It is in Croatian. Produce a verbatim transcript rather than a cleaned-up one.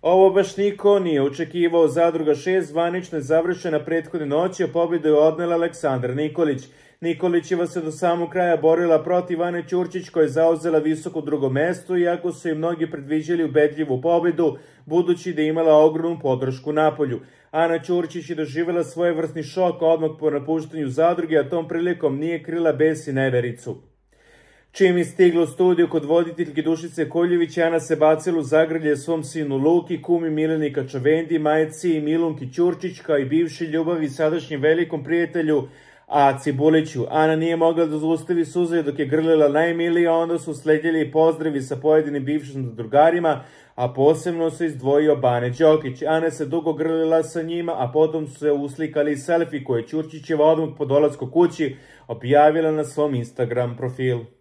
Ovo baš niko nije očekivao. Zadruga šest zvanično je završena prethodne noći, a pobjedu je odnela Aleksandar Nikolić. Nikolićeva se do samog kraja borila protiv Ane Ćurčić, koja je zauzela visoko drugo mesto, iako su i mnogi predviđali ubedljivu pobjedu, budući da je imala ogromnu podršku napolju. Ana Ćurčić je doživjela svojevrsni šok odmah po napuštanju zadruge, a tom prilikom nije krila bes i nevericu. Čim je stigla u studiju kod voditeljke Dušice Koljević, Ana se bacila u zagrlje svom sinu Luki, kumi Mileni Kačavendi, majci i Milunki Ćurčić, kao i bivši ljubavi i sadašnjem velikom prijatelju Aci Buliću. Ana nije mogla da zaustavi suze dok je grlila najmilije, onda su sledjeli pozdravi sa pojedinim bivšim drugarima, a posebno se izdvojio Bane Đokić. Ana se dugo grlila sa njima, a potom su se uslikali selfie koje Ćurčićeva odmah po dolasku kući objavila na svom Instagram profilu.